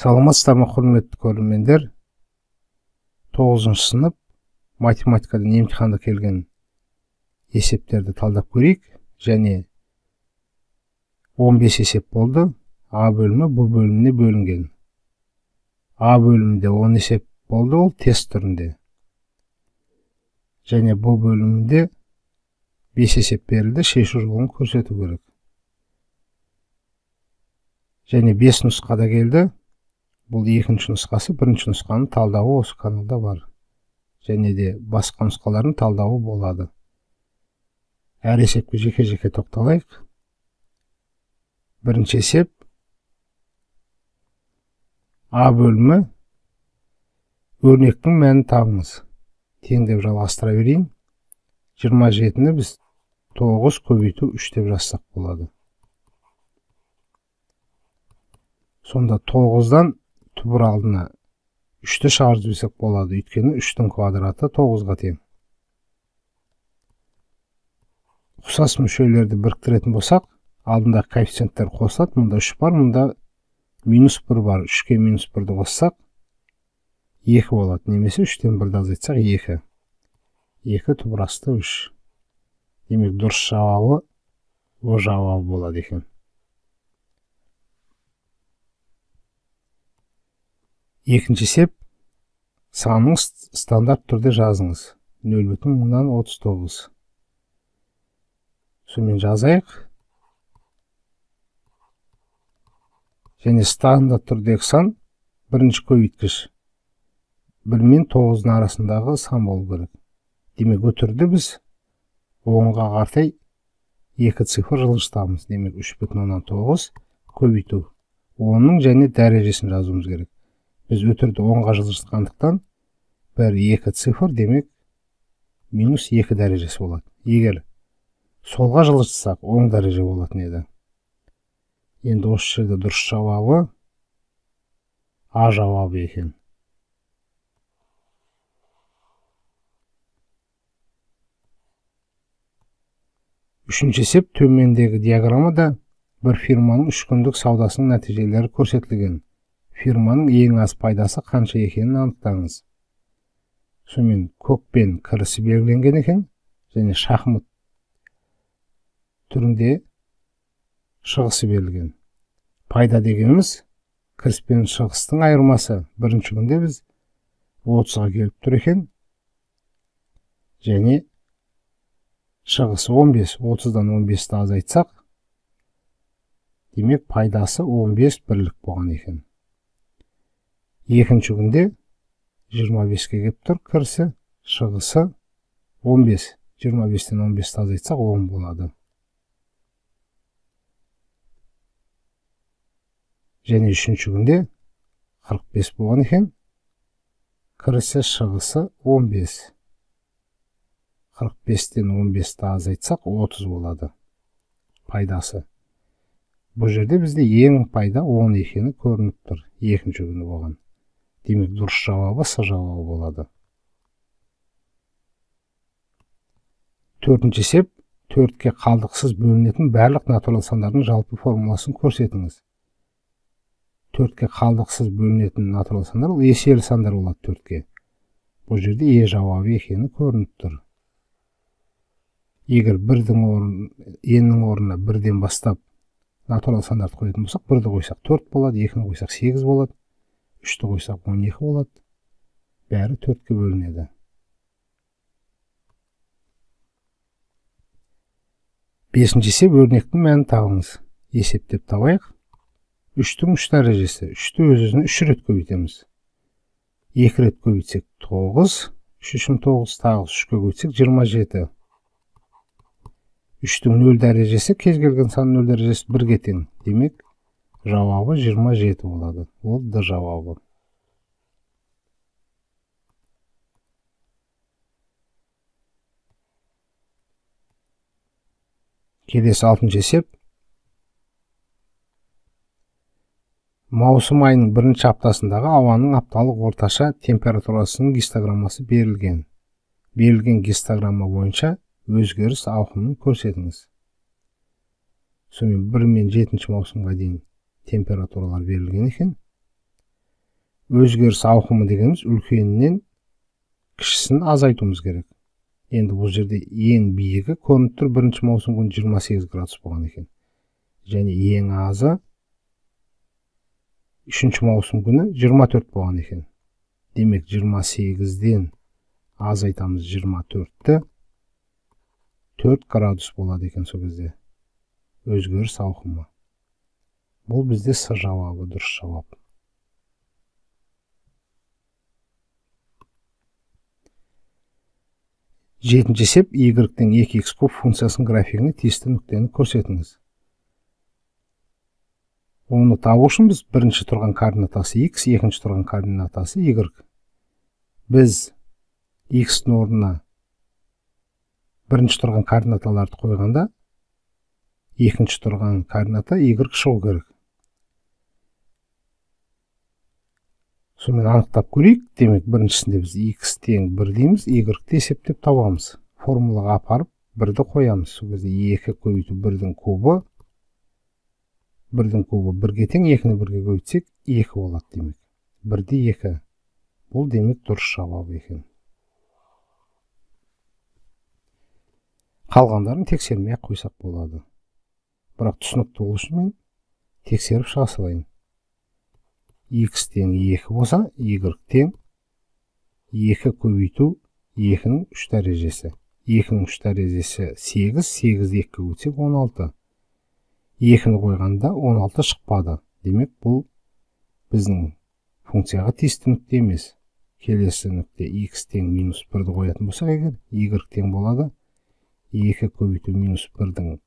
Саламатсыздар ма, құрметті көрермендер? 9-шы сынып математикадан емтиханда келген есептерді талдап көрейік. Және 15 есеп болды. А бөлімі Б бөліміне бөлінген. А бөлімінде 10 есеп болды, ол тест түрінде. Және Б бөлімінде 5 есеп берілді, шешу жолын көрсету керек. Және 5 нұсқада келді. Бұл екінші нұсқасы, бірінші нұсқаның талдауы осы каналда бар. Және де басқа нұсқалардың талдауы болады. Әр есепке жеке-жеке тоқталайық. Бірінші есеп. А бөлімі. Өрнектің мәнін табыңыз. Теңдеп жалғастыра берейін. 27-ні біз 9 көбейту 3 деп жазсақ болады. Сонда 9-дан түбір алдына 3-ті шығарып жіберсек болады. Өйткені 3-тің квадраты 9-ға тең. Ұқсас мүшелерді біріктіретін болсақ, алдында коэффициенттер қосылады. Мұнда 3 бар, мұнда -1 бар. 3-ке -1-ді қоссақ 2 болады. Немесе 3-тен 1-ді азайтсақ 2. 2 түбір асты 3. Демек дұрыс жауабы О жауабы болады екен. Екінші есеп. Санын стандарт түрде жазыңыз. 0,39. Сонымен жазайық. Және стандарт түрдегі сан бірінші көбейткіш. 1 мен 9-ның арасындағы сан болу керек. Демек өтірді біз 10-ға қартай 2 цифр жылжытамыз. Демек 3,9 көбейту. 10-ның және дәрежесін жазуымыз керек. Біз өтірді 10-ға жылжытқандықтан бір 2 цифр, демек -2 дәрежесі болады. Егер солға жылжытсақ 10 дәреже болатын еді. Енді осы жерде дұрыс жауабы А жауабы екен. Үшінші есеп. Төмендегі диаграммада бір фирманың 3 күндік саудасының нәтижелері көрсетілген. Фирманың ең аз пайдасы қанша екенін анықтаңыз. Сонымен көкпен кірісі белгіленген екен, және шахмат түрінде шығысы берілген. Пайда дегеніміз кіріс пен шығыстың айырмасы. Бірінші күнде біз 30-ға келіп тұр екен, және шығысы 15. 30-дан 15-ті азайтсақ, демек пайдасы 15 бірлік болған екен. Екінші күнде 25-ке келіп тұр кірісі, шығысы 15. 25-тен 15-ті азайтсақ 10 болады. Және үшінші күнде 45 болған екен, кірісі, шығысы 15. 45-тен 15-ті азайтсақ 30 болады. Пайдасы. Бұл жерде бізде ең пайда 10 екені көрініп тұр. Екінші күні болған. Демек дұрыс жауабы С жауабы болады. Төртінші есеп. 4-ке қалдықсыз бөлінетін барлық натурал сандардың жалпы формуласын көрсетіңіз. 4-ке қалдықсыз бөлінетін натурал сандар ол еселі сандар болады 4-ке. Бұл жерде Е жауабы екені көрініп тұр. Егер Ннің орнына 1-ден бастап натурал сандарды қоятын болсақ, 1-ді қойсақ 4 болады, 2-ні қойсақ 8 болады, 3-ті қойсақ 12 болады. Бәрі 4-ке бөлінеді. Бесінші есеп. Өрнектің мәнін табыңыз. Есептеп табайық. 3-тің 3 дәрежесі. 3-ті өз-өзіне 3 рет көбейтеміз. 2 рет көбейтсек 9, 3 9 тағы 3-ке көбейтсек 27. 3-тің 0 дәрежесі, кез келген сан 0 дәрежесі 1-ге тең. Демек, жауабы 27 болады. Ол Д жауабы. Келесі 6-шы есеп. Маусым айының 1-ші аптасындағы ауаның апталық орташа температурасының гистограммасы берілген. Берілген гистограмма бойынша өзгеріс ауқымын көрсетіңіз. Сонымен 1 мен 7 маусымға дейін температуралар берілген екен. өзгеріс ауқымы дегеніміз үлкенінен кішісін азайтуымыз керек. Енді бұл жерде ең биігі көрініп тұр, 1 маусым күні 28 градус болған екен. Және ең азы 3 маусым күні 24 болған екен. Демек 28-ден азайтамыз 24-ті 4 градус болады екен сол кезде. Өзгеріс ауқымы. Бұл бізде С жауабы, дұрыс жауап. Жетінші есеп, y-тен 2x куб функциясының графигіне тиісті нүктені көрсетіңіз. Оны табу үшін біз бірінші тұрған координатасы x, екінші тұрған координатасы y. Біз x-дің орнына бірінші тұрған координаталарды қойғанда, екінші тұрған координата y шығу керек. Сонымен анықтап көрейік. Демек, біріншісінде біз x тең 1 дейміз, y-ті есептеп табамыз. Формулаға апарып 1-ді қоямыз. Сол кезде 2 көбейту 1-дің кубы, 1-дің кубы 1-ге тең, 2-ні 1-ге көбейтсек 2 болады демек. 1-де 2. Бұл демек дұрыс жауап екен. Қалғандарын тексермей қойсақ болады. Бірақ түсінікті болу үшін мен тексеріп шыға салайын. X тең 2 болса, y тең 2 көбейту 2-ның 3 дәрежесі. 2-ның 3 дәрежесі 8, 8-ді 2-ге көбейтсек 16. 2-ні қойғанда 16 шықпады. Демек, бұл біздің функцияға тиісті нүкте емес. Келесі нүкте x тең минус 1-ді қоятын болсақ егер, y тең болады. 2 көбейту минус 1-дің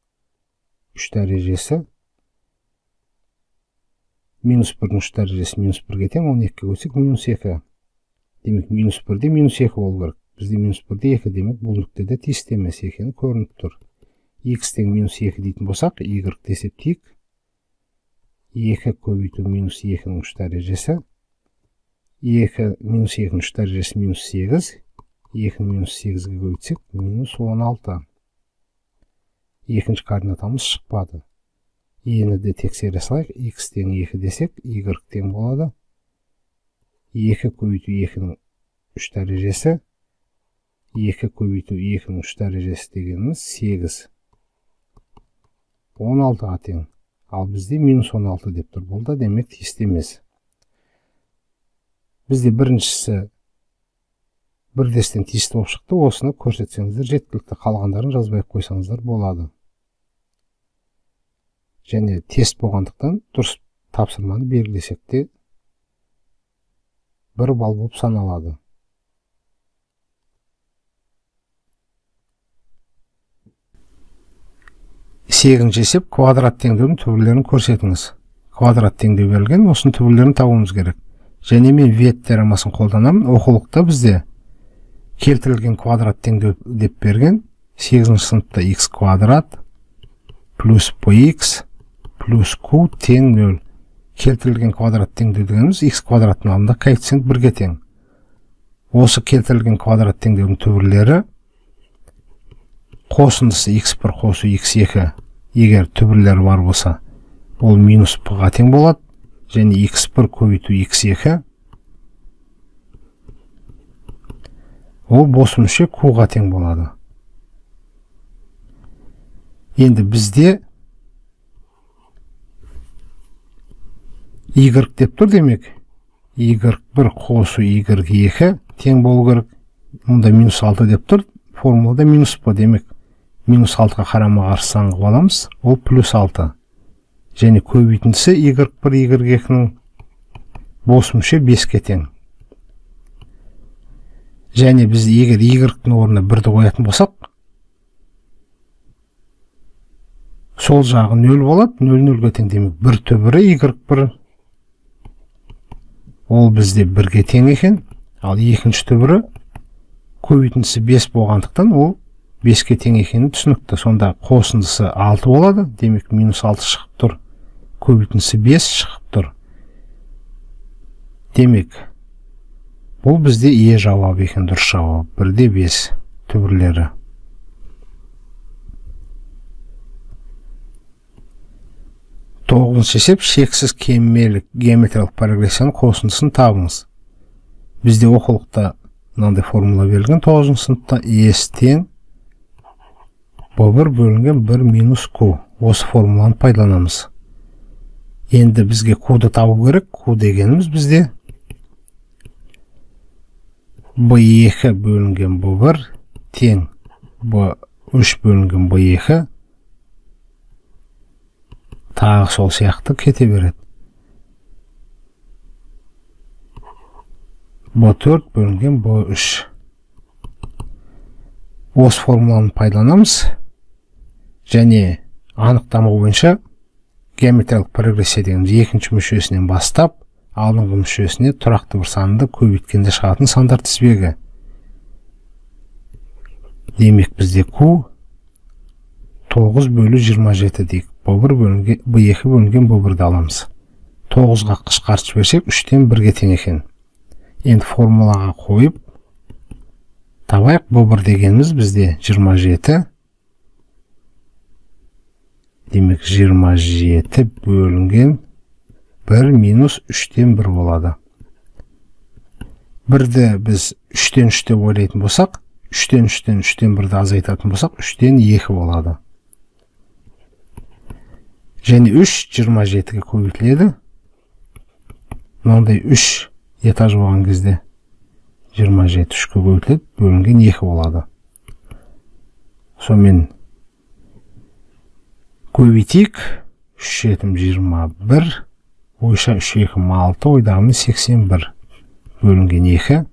3 дәрежесі. Минус 1-дің 3 дәрежесі минус 1-ге тең, 12-ге көбейтсек минус 2. Демек, минус 1-де минус 2 болу керек. Бізде минус 1-де 2, демек, бұл нүктеде тиісті емес екені көрініп тұр. X тең минус 2 дейтін болсақ, y-ті есептейік. 2 көбейту минус 2-ның 3 дәрежесі. 2 минус 2-ның 3 дәрежесі минус 8. 2 минус 8-ге көбейтсек минус 16. Екінші координатамыз шықпады. Ені де тексере салайық. X тең 2 десек, y тең болады. 2 көбейту 2-ның 3 дәрежесі. 2 көбейту 2-ның 3 дәрежесі дегеніміз 8. 16-ға тең. Ал бізде минус 16 деп тұр. Бұл да демек тиісті емес. Бізде біріншісі бірдестен тиісті болып шықты. Осыны көрсетсеңіздер жеткілікті. Қалғандарын жазбай қойсаңыздар болады. Және тест болғандықтан дұрыс тапсырманы белгілесек те 1 балл болып саналады. Сегізінші есеп, квадрат теңдеудің түбірлерін көрсетіңіз. Квадрат теңдеу берілген, осының түбірлерін табуымыз керек. Және мен вет теоремасын қолданамын. Оқулықта бізде келтірілген квадрат теңдеу деп берген. 8-ші сыныпта x квадрат плюс px плюс q тең 0. Келтірілген квадрат теңдеу дегеніміз x квадраттың алдында коэффициент 1-ге тең. Осы келтірілген квадрат теңдеудің түбірлері қосындысы x1 қосу x2 егер түбірлері бар болса, ол минус p-ға тең болады. Және x1 көбейту x2 ол бос мүше q-ға тең болады. Енді бізде y деп тұр демек. y1 қосу y2 тең болу керек. Мұнда минус 6 деп тұр. Формулада минус p демек. Минус 6-ға қарама қарсы сан қылып аламыз. Ол плюс 6. Және көбейтіндісі y1 y2-ның бос мүше 5-ке тең. Және біз егер y-ның орнына 1-ді қоятын болсақ, сол жағы 0 болады, 0-0-ге тең демек. 1 түбірі y1 ол бізде 1-ге тең екен. Ал екінші түбірі көбейтіндісі 5 болғандықтан ол 5-ке тең екені түсінікті. Сонда қосындысы 6 болады. Демек, минус 6 шығып тұр. Көбейтіндісі 5 шығып тұр. Демек, бұл бізде е жауап екен, дұрыс жауап. 1-де 5 түбірлері. 9-шы есеп шексіз кемелік геометриялық прогрессияның қосындысын табыңыз. Бізде оқулықта мынандай формула берілген 9-шы сыныпта ес тең b1 бөлінген 1 минус q. Осы формуланы пайдаланамыз. Енді бізге q-ды табу керек. Q дегеніміз бізде b2 бөлінген b1 тең b3 бөлінген b2 тағы сол сияқты кете береді. b4 бөлінген b3. Осы формуланы пайдаланамыз. Және анықтама бойынша геометриялық прогрессия деген екінші мүшесінен бастап алдыңғы мүшесіне тұрақты бір санды көбейткенде шығатын сандар тізбегі. Демек бізде q 9/27 дейік. b2 бөлінген b1-ді аламыз. 9-ға қысқартып берсек 3-тен 1-ге тең екен. Енді формулаға қойып табайық. b1 дегеніміз бізде 27. Демек 27 бөлінген 1 минус 3-тен 1 болады. 1-ді біз 3-тен 3 деп ойлайтын болсақ, 3-тен 1-ді азайтатын болсақ, 3-тен 2 болады. Және 3 27-ге көбейтіледі. Мынандай 3 этаж болған кезде 27 3-ке көбейтіледі, бөлінген 2 болады. Сонымен көбейтейік. 3 7 21, ойша 3 2 6, ойдағымен 81 бөлінген 2.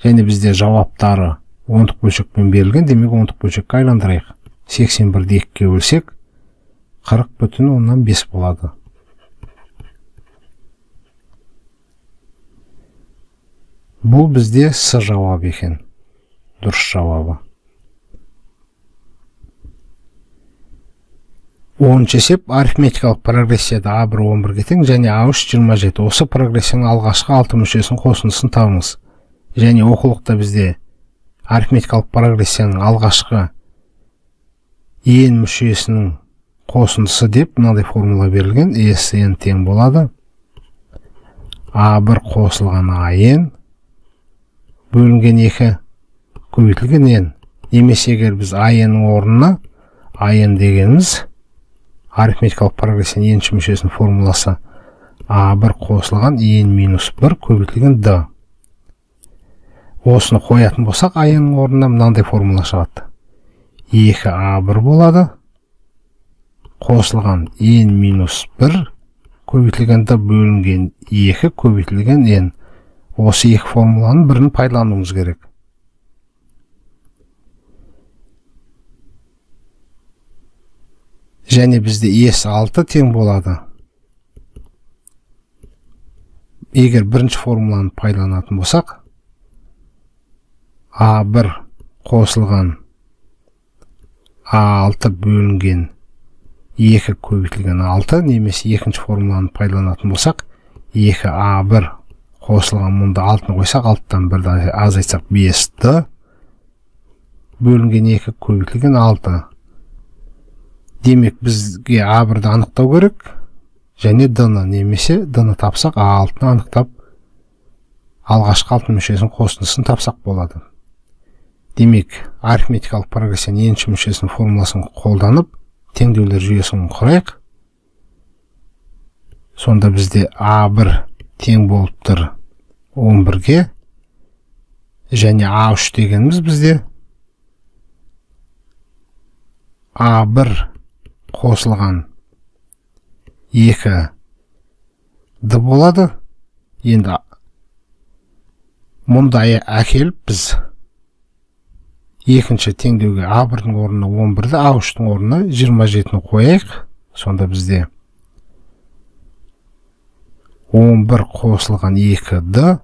Және бізде жауаптары ондық бөлшекпен берілген, демек ондық бөлшекке айландырайық. 81-ді 2-ге бөлсек 40,5 болады. Бұл бізде С жауабы екен. Дұрыс жауабы. 10-шы есеп арифметикалық прогрессияда A1 11-ге тең және A3 27. Осы прогрессияның алғашқы 6 мүшесінің қосындысын табыңыз. Және оқулықта бізде арифметикалық прогрессияның алғашқы n мүшесінің қосындысы деп мынадай формула берілген. Sn тең болады A1 қосылған AN бөлінген 2 көбейтілген n. Немесе егер біз AN-ның орнына AN дегеніміз арифметикалық прогрессияның енші мүшесінің формуласы A1 қосылған n минус 1 көбейтілген d. Осыны қоятын болсақ, AN-ның орнына мынандай формула шығады. 2A1 болады. Қосылған n минус 1 көбейтілген d бөлінген 2 көбейтілген n. Осы екі формуланың бірін пайдалануымыз керек. Және бізде S6 тең болады. Егер бірінші формуланы пайдаланатын болсақ, A1 қосылған A6 бөлінген 2 көбейтілген 6, немесе екінші формуланы пайдаланатын болсақ, 2A1 қосылған мұнда 6-ны қойсақ, 6-тан 1-ді азайтсақ 5D бөлінген 2 көбейтілген 6. Демек бізге A1-ді анықтау керек, және D-ны, немесе D-ны тапсақ, A6-ны анықтап, алғашқы 6 мүшесінің қосындысын тапсақ болады. Демек, арифметикалық прогрессияның енші мүшесінің формуласын қолданып, теңдеулер жүйесін құрайық. Сонда бізде A1 тең болып тұр 11-ге, және A3 дегеніміз бізде A1 қосылған 2D болады. Енді мұндай әкеліп біз екінші теңдеуге A1-дің орнына 11-ді, A3-дің орнына 27-ні қояйық. Сонда бізде 11 қосылған 2D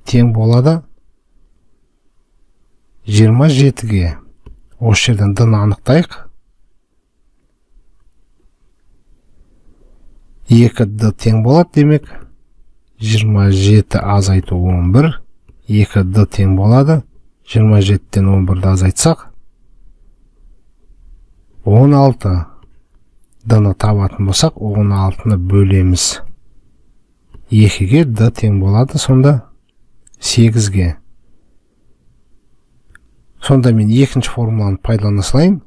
тең болады 27-ге. Осы жерден D-ны анықтайық. 2D тең болады, демек 27 азайту 11, 2D тең болады. 27-тен 11-ді азайтсақ 16. d-ны табатын болсақ, 16-ны бөлеміз 2-ге, d тең болады, сонда 8-ге. Сонда мен екінші формуланы пайдалана салайын.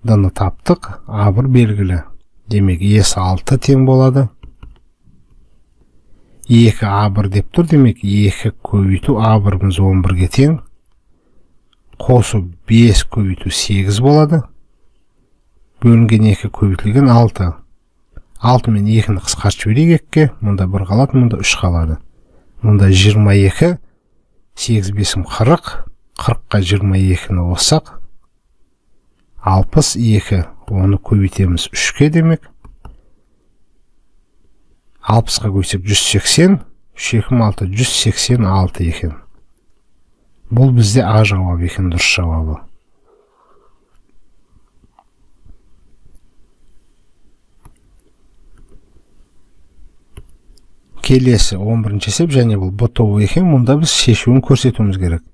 d-ны таптық, a1 белгілі. Демек, s6 тең болады. 2a1 деп тұр, демек 2 көбейту a1-міз 11-ге тең. Қосу 5 көбейту 8 болады. Бөлінген 2 көбейтілген 6. 6 мен 2-ні қысқартып жіберейік 2-ге. Мұнда 1 қалады, мұнда 3 қалады. Мұнда 22, 8 5 40, 40-қа 22-ні қоссақ 62. Оны көбейтеміз 3-ке демек. 60-қа көбейтсек 180, 3 2 6 186 екен. Бұл бізде А жауабы екен, дұрыс жауабы. Келесі 11-ші есеп, және бұл б-тобы екен. Мұнда біз шешуін көрсетуіміз керек.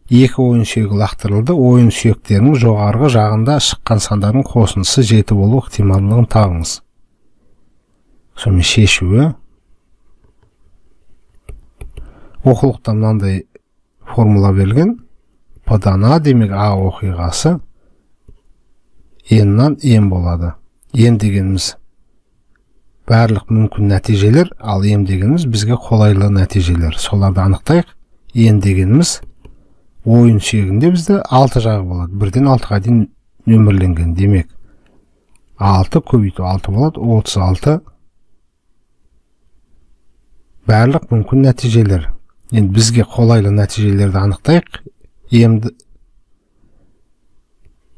2 ойын сүйегі лақтырылды. Ойын сүйектерінің жоғарғы жағында шыққан сандардың қосындысы 7 болу ықтималдығын табыңыз. Сонымен шешуі. Оқулықта мынандай формула берілген. P-дан А, демек А оқиғасы N-нан N болады. N дегеніміз барлық мүмкін нәтижелер, ал M дегеніміз бізге қолайлы нәтижелер. Соларды анықтайық. N дегеніміз ойын сүйегінде бізде 6 жағы болады. 1-ден 6-ға дейін нөмірленген. Демек, 6 көбейту 6 болады. 36 барлық мүмкін нәтижелер. Енді бізге қолайлы нәтижелерді анықтайық.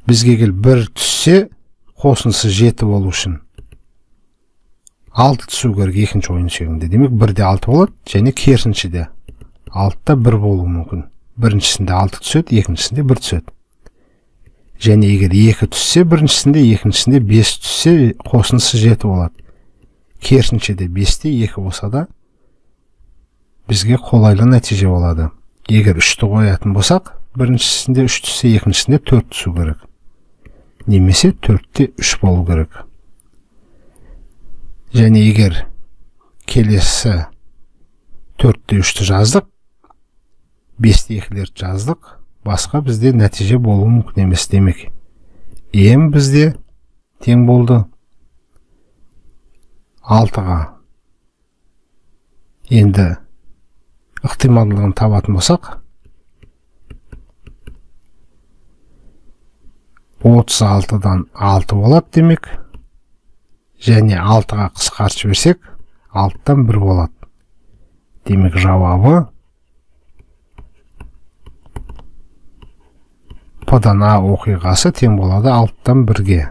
Бізге кел 1 түссе, қосындысы 7 болу үшін 6 түсу керек екінші ойын сүйегінде. Демек, 1-де 6 болады, және керісінше 6-да 1 болуы мүмкін. Біріншісінде 6 түседі, екіншісінде 1 түседі. Және егер 2 түссе, біріншісінде, екіншісінде 5 түссе, қосындысы 7 болады. Керісінше 5-те 2 болса да бізге қолайлы нәтиже болады. Егер 3-ті қоятын болсақ, біріншісінде 3 түссе, екіншісінде 4 түсу керек. Немесе 4-те 3 болу керек. Және егер келесі 4-те 3-ті жаздық, 5-те 2-лерді жаздық, басқа бізде нәтиже болуы мүмкін емес. Демек, М бізде тең болды 6-ға. Енді ықтималдығын табатын болсақ, 36-дан 6 болады демек, және 6-ға қысқартып жіберсек, 6-тан 1 болады. Демек, жауабы P-дан А оқиғасы тең болады 6-тан 1-ге.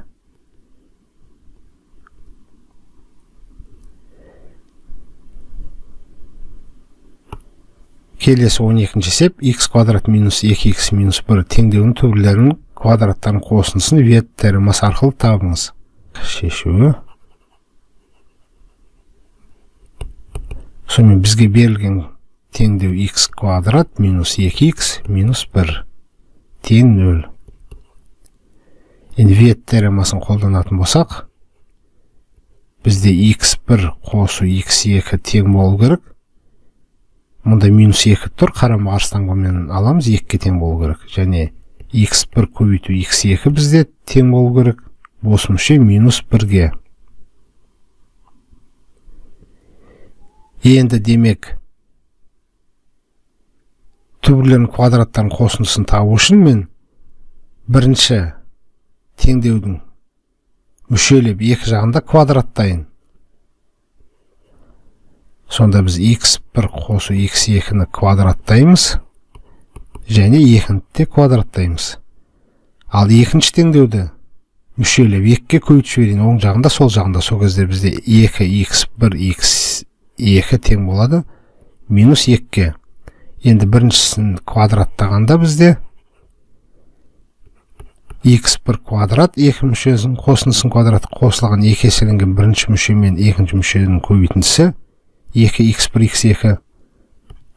Келесі 12-ші есеп, x квадрат минус 2x минус 1 теңдеуінің түбірлерінің квадраттарын қосындысын вет теоремасы арқылы табыңыз. Шешуі. Сонымен бізге берілген теңдеу x квадрат минус 2x минус 1 тең 0. Енді вет теоремасын қолданатын болсақ, бізде x1 қосу x2 тең болу керек. Мұнда минус 2 тұр, қарама қарсыланғанмен аламыз, 2-ге тең болу керек. Және x1 көбейту x2 бізде тең болу керек. Бос мүше минус 1-ге. Енді демек, түбірлерінің квадраттарын қосындысын табу үшін мен бірінші теңдеудің мүшелеп екі жағында квадраттайын. Сонда біз x1 қосу x2-ні квадраттаймыз, және 2-ні квадраттаймыз. Ал екінші теңдеуді мүшелеп 2-ге көбейтіп жіберейін, оң жағында, сол жағында. Сол кезде бізде 2x1 x2 тең болады минус 2-ге. Енді біріншісін квадраттағанда бізде x1 квадрат, екі мүшесінің қосындысын квадрат қосылған екі еселенген бірінші мүше мен екінші мүшенің көбейтіндісі 2x1 x2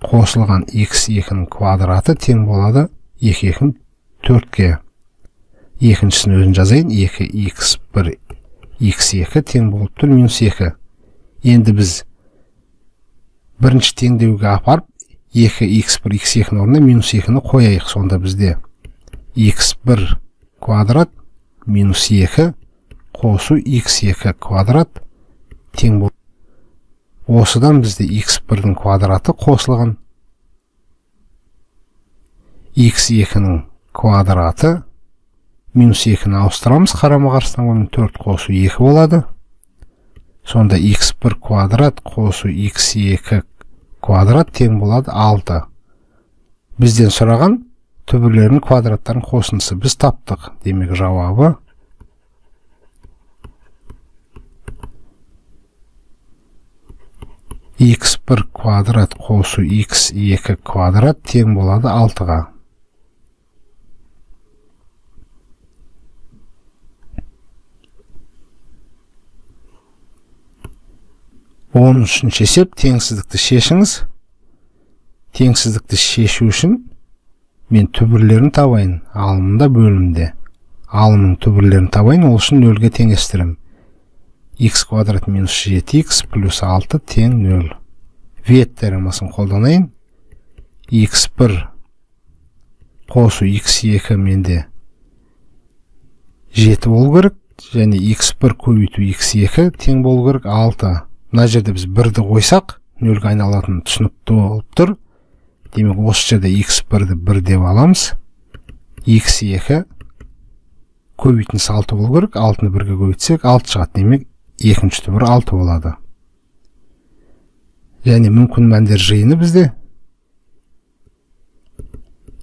қосылған x2-ның квадраты тең болады 2-ның 4-ге. Екіншісін өзін жазайын, 2x1 x2 тең болып тұр минус 2. Енді біз бірінші теңдеуге апарып 2x1 x2 орнына минус 2-ні қояйық. Сонда бізде x1 квадрат минус 2 қосу x2 квадрат тең болып. Осыдан бізде x1-дің квадраты қосылған. x2-ның квадраты минус 2-ні ауыстырамыз. Қарама-қарсыдан 4 қосу 2 болады. Сонда x1 квадрат қосу x2 квадрат тең болады 6. Бізден сұраған түбірлерінің квадраттарын қосындысы біз таптық. Демек жауабы x1 квадрат қосу x2 квадрат тең болады 6-ға. 13-ші есеп теңсіздікті шешіңіз. Теңсіздікті шешу үшін мен түбірлерін табайын. Алымында бөлімде. Алымның түбірлерін табайын, ол үшін 0-ге теңестірім. X квадрат минус 7x плюс 6 тең 0. Вет теоремасын қолданайын. x1 қосу x2 менде 7 болу керек, және x1 көбейту x2 тең болу керек 6. Мына жерде біз 1-ді қойсақ, 0-ге айналатын түсінікті болып тұр. Демек, осы жерде x1-ді 1 деп аламыз. x2 көбейтінісі 6 болу керек, 6-ны 1-ге көбейтсек 6 шығады. Демек, екінші түбір 6 болады. Және мүмкін мәндер жиыны бізде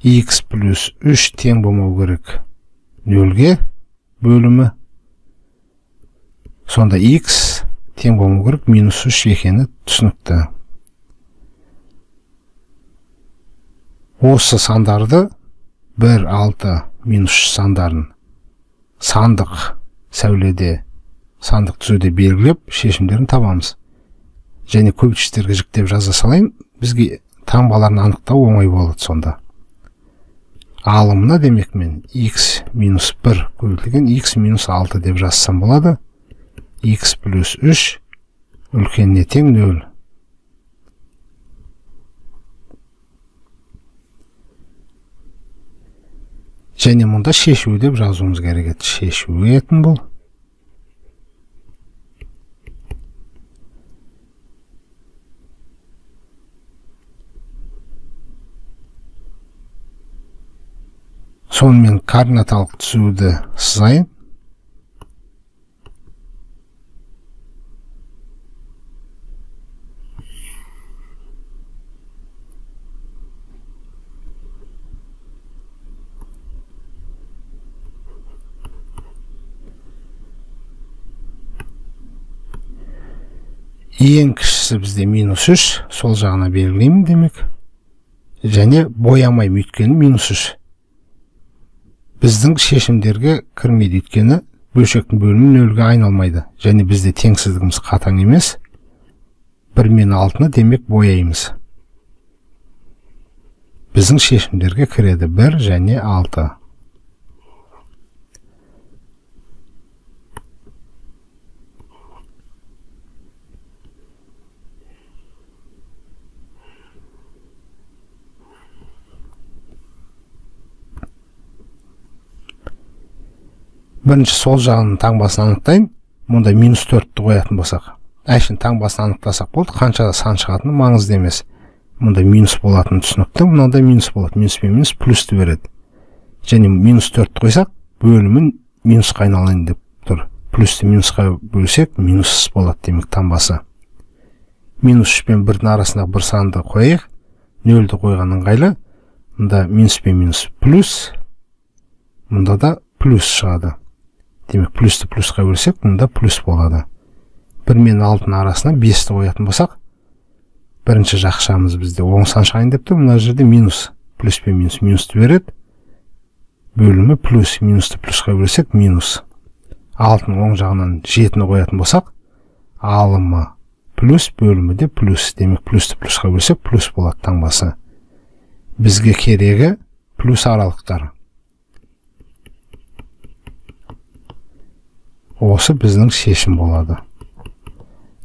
x плюс 3 тең болмау керек 0-ге бөлімі. Сонда x тең болмау керек минус 3 екені түсінікті. Осы сандарды 1, 6, минус 3 сандарын сандық сәуледе, сандық түзуде белгілеп, шешімдерін табамыз. Және көбейтіштерге жіктеп жаза салайын, бізге таңбаларын анықтау оңай болады сонда. Алымына демек мен x минус 1 көбейтілген x минус 6 деп жазсам болады. X плюс 3 үлкеніне тең 0. Және мұнда шешуі деп жазуымыз керек еді. Шешуі етін бұл. Сонымен координаталық түзуді сызайын. Ең кішісі бізде минус 3, сол жағына белгілеймін демек. Және боямай өйткені минус 3. Біздің шешімдерге кірмейді өйткені бөлшектің бөлімі 0-ге айналмайды. Және бізде теңсіздігіміз қатаң емес. 1 мен 6-ны демек бояймыз. Біздің шешімдерге кіреді 1 және 6. Бірінші сол жағының таңбасын анықтайын. Мұнда минус 4-ті қоятын болсақ. Әшін таңбасын анықтасақ болды. Қаншада сан шығатыны маңызды емес. Мұнда минус болатын түсінікті. Мұнда минус болады. Минус пен минус плюсті береді. Және минус 4-ті қойсақ, бөлімін минусқа айналайын деп тұр. Плюсті минусқа бөлсек, минус болады демек таңбасы. Минус 3 пен 1-дің арасында бір санды қойайық. 0-ді қойған ыңғайлы. Мұнда минус пен минус плюс. Мұнда да плюс шығады. Демек, плюсті плюсқа бөлсек, мұнда плюс болады. 1 мен 6-ның арасына 5-ті қоятын болсақ, бірінші жақшамыз бізде оң сан шығайын деп тұр. Мына жерде минус. Плюс пен минус минусты береді. Бөлімі плюс, минусты плюсқа бөлсек, минус. 6-ның оң жағынан 7-ні қоятын болсақ, алымы плюс, бөлімі де плюс. Демек, плюсті плюсқа бөлсек, плюс болады таңбасы. Бізге керегі плюс аралықтар. Осы біздің шешім болады.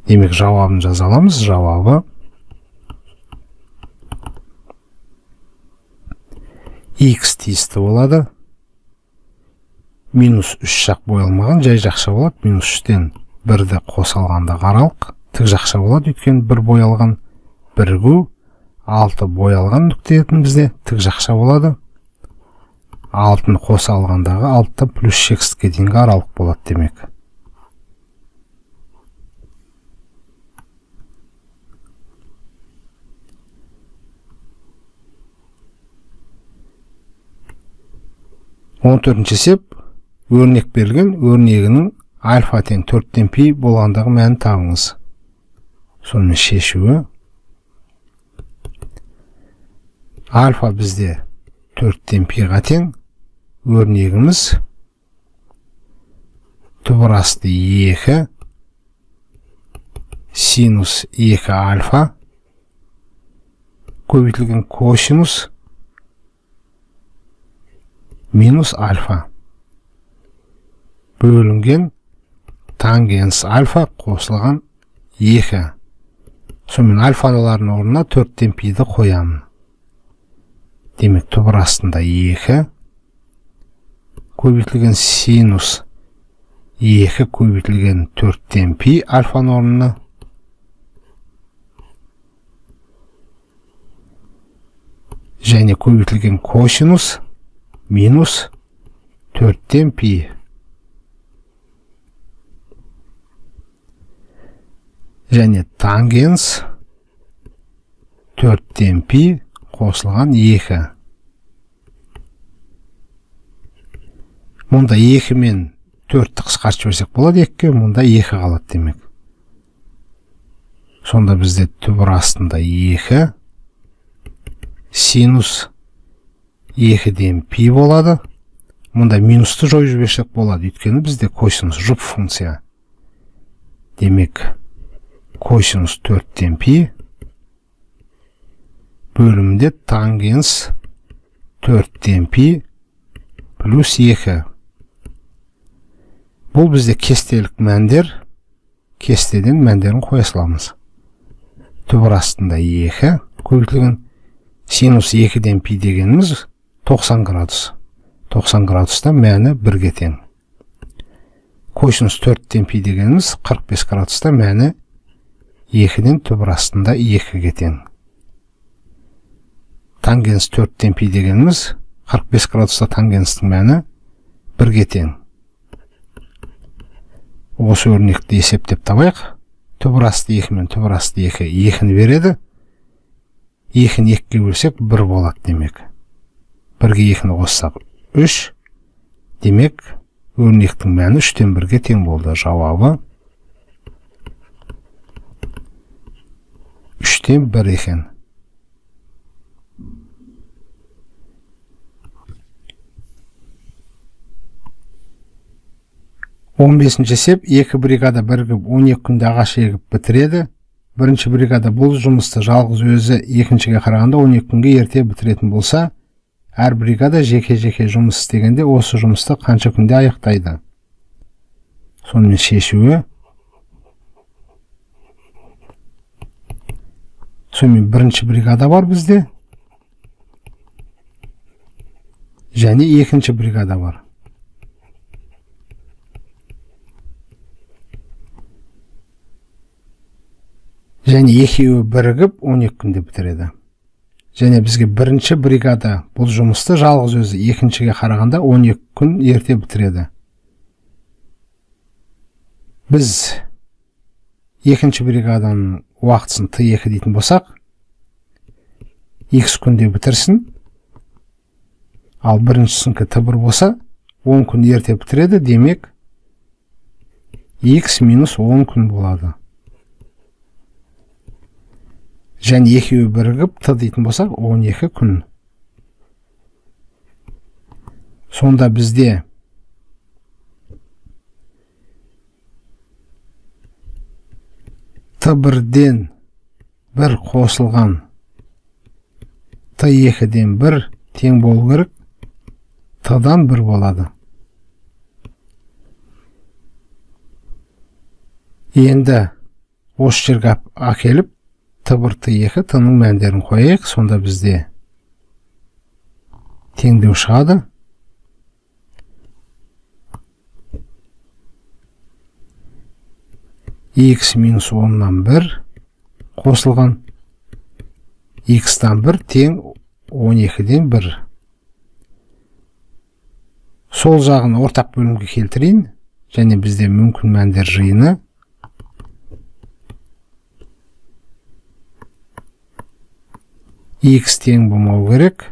Демек жауабын жаза аламыз. Жауабы x тиісті болады. Минус 3 жақ боялмаған, жай жақша болады. Минус 3-тен 1-ді қоса алғанда қаралық. Тік жақша болады, өйткені 1 боялған. Бірігу 6 боялған нүкте етін бізде тік жақша болады. 6-ны қоса алғандағы 6 плюс шексізге дейінгі аралық болады демек. Он төртінші есеп, өрнек берілген, өрнегінің альфа тең 4-тен пи болғандағы мәнін табыңыз. Сонымен шешуі. Альфа бізде 4-тен пиға тең, өрнегіміз түбір асты 2 синус 2 альфа көбейтілген косинус минус альфа бөлінген тангенс альфа қосылған 2. Сонымен альфалардың орнына 4-тен пиді қоямын. Демек түбір астында 2 көбейтілген синус 2 көбейтілген 4-тен пи альфаның орнына және көбейтілген косинус минус 4-тен пи. Және тангенс 4-тен пи қосылған 2. Мұнда 2 мен 4-ті қысқартып жіберсек болады, 2-ге мұнда 2 қалады демек. Сонда бізде түбір астында 2 синус 2-ден пи болады. Мұнда минусты жойып жіберсек болады, өйткені бізде косинус жұп функция. Демек косинус 4-тен пи бөлімде тангенс 4-тен пи плюс 2. Бұл бізде кестелік мәндер. Кестеден мәндерін қоя саламыз. Түбір астында 2 көбейтілген синус 2-ден пи дегеніміз 90 градус. 90 градуста мәні 1-ге тең. Косинус 4-тен пи дегеніміз 45 градуста мәні 2-ден түбір астында 2-ге тең. Тангенс 4-тен пи дегеніміз 45 градуста тангенстің мәні 1-ге тең. Осы өрнекті есептеп табайық. Түбір асты 2 мен түбір асты 2 2-ні береді. 2-ні 2-ге бөлсек 1 болады демек. 1-ге 2-ні қоссақ 3. Демек өрнектің мәні 3-тен 1-ге тең болды. Жауабы 3-тен 1 екен. Он бесінші есеп, 2 бригада бірігіп 12 күнде ағаш егіп бітіреді. Бірінші бригада бұл жұмысты жалғыз өзі екіншіге қарағанда 12 күнге ерте бітіретін болса, әр бригада жеке-жеке жұмыс істегенде осы жұмысты қанша күнде аяқтайды? Сонымен шешуі. Сонымен бірінші бригада бар бізде. Және екінші бригада бар. Және екеуі бірігіп 12 күнде бітіреді. Және бізге бірінші бригада бұл жұмысты жалғыз өзі екіншіге қарағанда 12 күн ерте бітіреді. Біз екінші бригаданың уақытысын Т2 дейтін болсақ, X күнде бітірсін, ал біріншісінкі Т1 болса, 10 күн ерте бітіреді, демек X минус 10 күн болады. Және екеуі бірігіп Т дейтін болсақ, 12 күн. Сонда бізде Т1-ден 1 қосылған Т2-ден 1 тең болу керек, Т-дан 1 болады. Енді осы жерге әкеліп Т1, Т2, Т-ның мәндерін қояйық. Сонда бізде теңдеу шығады. X минус 10-нан 1 қосылған X-тан 1 тең 12-ден 1. Сол жағын ортақ бөлімге келтірейін. Және бізде мүмкін мәндер жиыны X тең болмау керек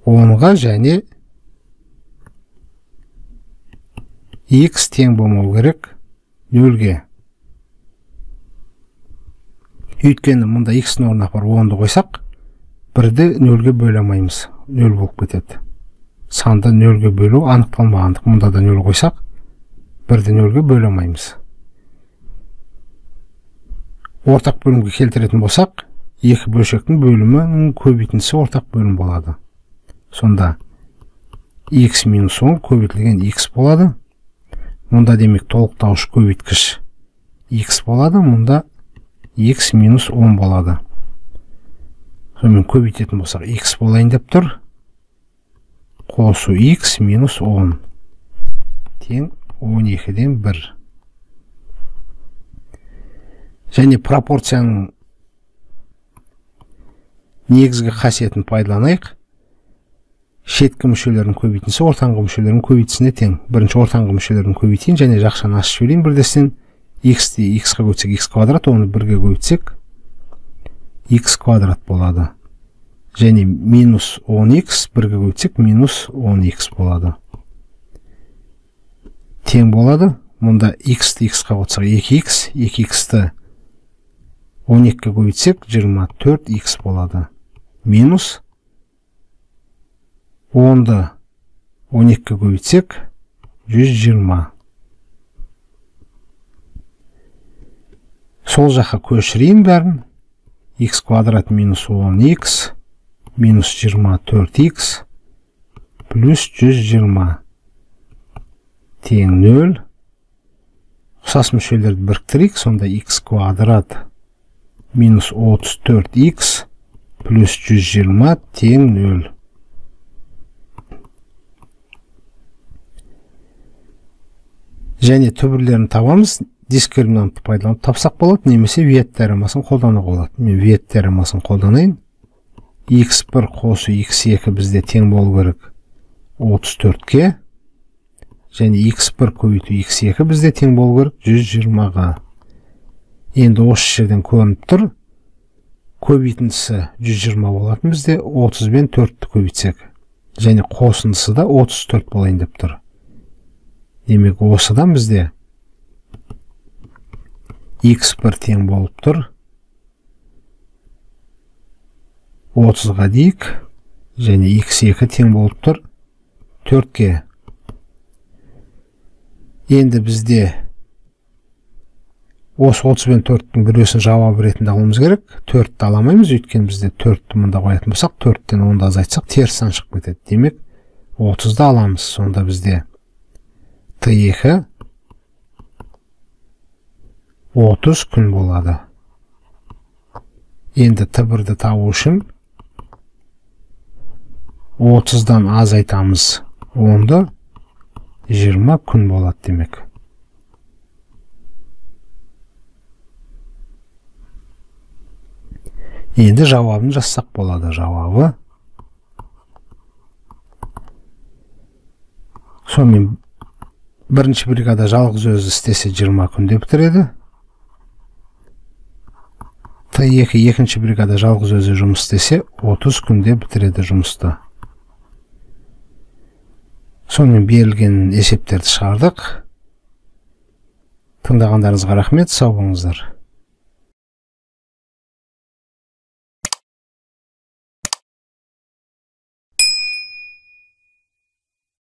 10-ға және X тең болмау керек 0-ге. Өйткені мұнда X-ның орнына 10-ды қойсақ, 1-ді 0-ге бөле алмаймыз. 0 болып кетеді. Санды 0-ге бөлу анықталмағандық. Мұнда да 0 қойсақ, 1-ді 0-ге бөле алмаймыз. Ортақ бөлімге келтіретін болсақ, екі бөлшектің бөлімінің көбейтіндісі ортақ бөлім болады. Сонда X минус 10 көбейтілген X болады. Мұнда демек толықтауыш көбейткіш X болады. Мұнда X минус 10 болады. Сонымен көбейтетін болсақ, X болайын деп тұр. Қосу X минус 10 тең 12-ден 1. Және пропорцияның негізгі қасиетін пайдаланайық. Шеткі мүшелердің көбейтіндісі ортаңғы мүшелердің көбейтісіне тең. Бірінші ортаңғы мүшелердің көбейтейін және жақшаны ашып жіберейін. Бірдестен X-ті X-қа көтсек X квадрат, оны 1-ге көбейтсек X квадрат болады. Және минус 10X 1-ге көбейтсек минус 10X болады. Тең болады. Мұнда X-ті X-қа қоссақ 2X, 2X-ті 12-ге көбейтсек 24X болады. Минус 10-ды 12-ге көбейтсек 120. Сол жаққа көшірейін бәрін. X квадрат минус 10X минус 24X плюс 120 тең 0. Ұқсас мүшелерді біріктірейік. Сонда X квадрат минус 34X плюс 120 тең 0. Және түбірлерін табамыз. Дискриминантты пайдаланып тапсақ болады, немесе виет теоремасын қолдануға болады. Мен виет теоремасын қолданайын. X1 қосу X2 бізде тең болу керек 34-ке. Және X1 көбейту X2 бізде тең болу керек 120-ға. Енді осы жерден көрініп тұр. Көбейтіндісі 120 болатын бізде 30 бен 4-ті көбейтсек. Және қосындысы да 34 болайын деп тұр. Демек осыдан бізде X1 тең болып тұр 30-ға дейік. Және X2 тең болып тұр 4-ке. Енді бізде осы 30 бен 4-тің біреусін жауап ретінде алуымыз керек. 4-ті аламаймыз, өйткені бізде 4-ті мұнда қоятын болсақ, 4-тен 10-ды азайтсақ, теріс сан шығып кетеді. Демек 30-ды аламыз. Сонда бізде Т2 30 күн болады. Енді Т1-ді табу үшін 30-дан азайтамыз 10-ды 20 күн болады демек. Енді жауабын жазсақ болады. Жауабы сонымен бірінші бригада жалғыз өзі істесе 20 күнде бітіреді. Т2 екінші бригада жалғыз өзі жұмыс істесе 30 күнде бітіреді жұмысты. Сонымен берілген есептерді шығардық. Тыңдағандарыңызға рахмет, сау болыңыздар.